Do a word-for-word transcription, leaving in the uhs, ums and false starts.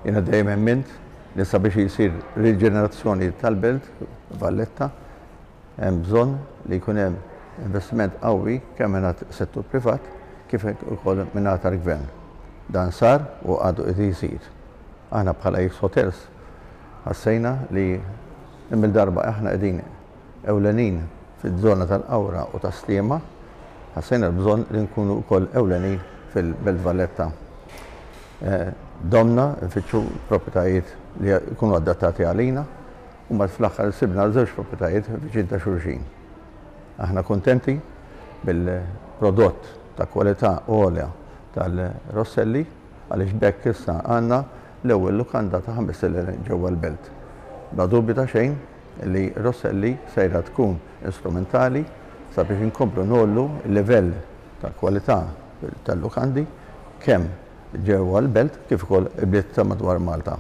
Jiena dejjem emmint li sabiex jisir riġenerazzjoni tal-Belt Valletta hemm bżonn li jkun hemm investiment qawwi kemm minn settur privat kif ukoll minn tal-gvern. Dan sar u għadu qed jsir. Aħna bħala X Hotels ħassejna li mill-darba aħna qegħdin ewlenin fiż-żona tal-Qawra u tas-Sliema, ħassejna l-bżonn li nkunu wkoll ewlenin fil-Belt Valletta. Domna nfittxu proprjetajiet li jkunu adattati għalina u mbagħad fl-aħħar sibna żewġ proprjetajiet viċin ta' xulxin. Aħna kontenti bil-prodott ta' kwalità għolja tal-Rosselli, għaliex b'hekk issa għandna l-ewwel lukanda ta' ħames stilel ġewwa l-belt. Bla dubju ta' xejn li Rosselli sejra tkun instrumentali sabiex inkomplu ngħollu l-livell ta' kwalità tal-lukandi kemm ġewwa l-belt kif ukoll ibliet ta' madwar Malta.